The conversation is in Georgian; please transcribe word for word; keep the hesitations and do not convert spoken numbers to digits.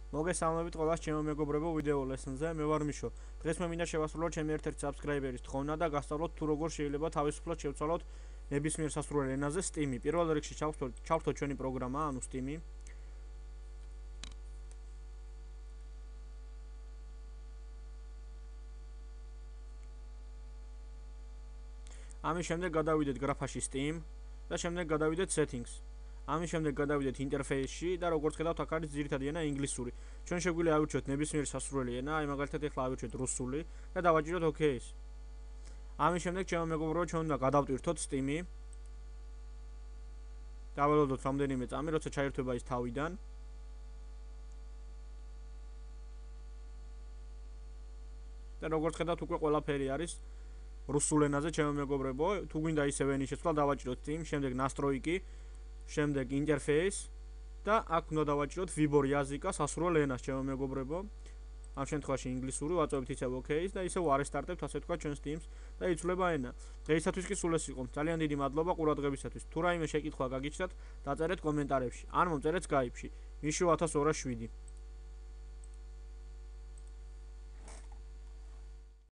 მოგესალმებით ყველას ჩემო მეგობრებო ვიდეო ლესონზე. მე ვარ მიშო. დღეს მე მინდა შევასრულოთ ჩემი ერთ-ერთი subscriber-ის თხოვნა და გასწავლოთ თუ როგორ შეიძლება თავისუფლად შევცვალოთ ნებისმიერ სასურველ ენაზე Steam-ი. პირველ რიგში ჩავხსოვთ ჩვენი პროგრამა, ანუ Steam-ი. ამის შემდეგ გადავიდეთ გრაფაში Steam და შემდეგ გადავიდეთ settings. ამის შემდეგ გადავიდეთ ინტერფეისში და როგორც ხედავთ აქ არის ძირითადი ენა ინგლისური. ჩვენ შეგვიძლია ავირჩიოთ ნებისმიერი სასურველი ენა, აი მაგალითად ახლა ავირჩიოთ რუსული და დავაჭიროთ OK-ს. ამის შემდეგ ჩემო მეგობრებო, ჩვენ უნდა გადავტვირთოთ Steam-ი. დაველოდოთ რამდენიმე წამი, როცა ჩაირთვება ის თავიდან. და როგორც ხედავთ უკვე ყველაფერი არის რუსულ ენაზე ჩემო მეგობრებო. თუ გვინდა ისევ ენის შეცვლა, დავაჭიროთ Steam, შემდეგ настройки, შემდეგ ინტერფეის და აქ უნდა დავაჭიროთ выбор языка სასურველ ენას ჩემო მეგობრებო. ამ შემთხვევაში ინგლისური ვაწვევთ ისევ OK-ს და ისევ არესტარტებთ ასე თქვა ჩვენ Steam-ს და იცვლება ენა. დღეისათვის კი სულ ეს იყო. ძალიან დიდი მადლობა ყურადღებისათვის. თუ რაიმე შეკითხვა გაგიჩნდათ, დაწერეთ კომენტარებში. ან მომწერეთ Skype-ში. მიშო ათას ორას შვიდი.